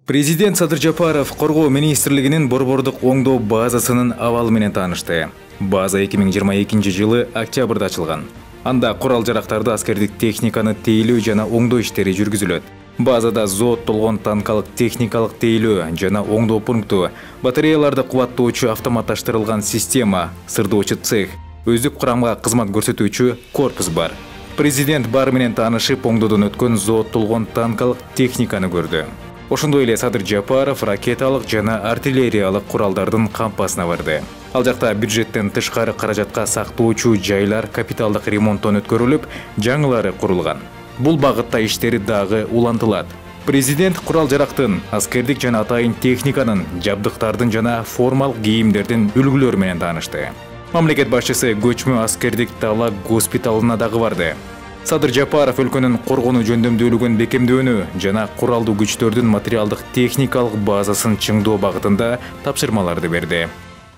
Президент Садыр Жапаров Коргоо министрлигинин борбордук оңдоо базасынын абалы менен таанышты. База 2022 жылы октябрда ачылган. Анда курал-жарактарды, аскердик техниканы тейлөө жана оңдоо иштери жүргүзүлөт. Базада зооттолгон танкалык техникалык тейлөө жана оңдоо пункту, батареяларды кубаттоочу автоматташтырылган система, сырдоочу цех, өздүк курамга кызмат көрсөтүүчү корпус бар. Президент бары менен таанышып, оңдоодон өткөн зооттолгон танкалык техниканы көрдү. Ошондой эле Садыр Жапаров ракеталык жана артиллериялык куралдардын кампасына барды. Ал жакта бюджеттен тышкары каражатка сактоочу жайлар капиталдык ремонттон өткөрүлүп, жаңылары курулган. Бул багытта иштери дагы улантылат. Президент курал-жарактын, аскердик жана атайын техниканын, жабдыктардын жана формалык кийимдердин үлгүлөрү менен таанышты. Мамлекет башчысы көчмө аскердик дала госпиталына дагы барды. Садыр Жапаров өлкөнүн коргонуу жөндөмдүүлүгүн бекемдөөнү жана куралдуу күчтөрдүн материалдык техникалык базасын чыңдоо багытында тапшырмаларды берди.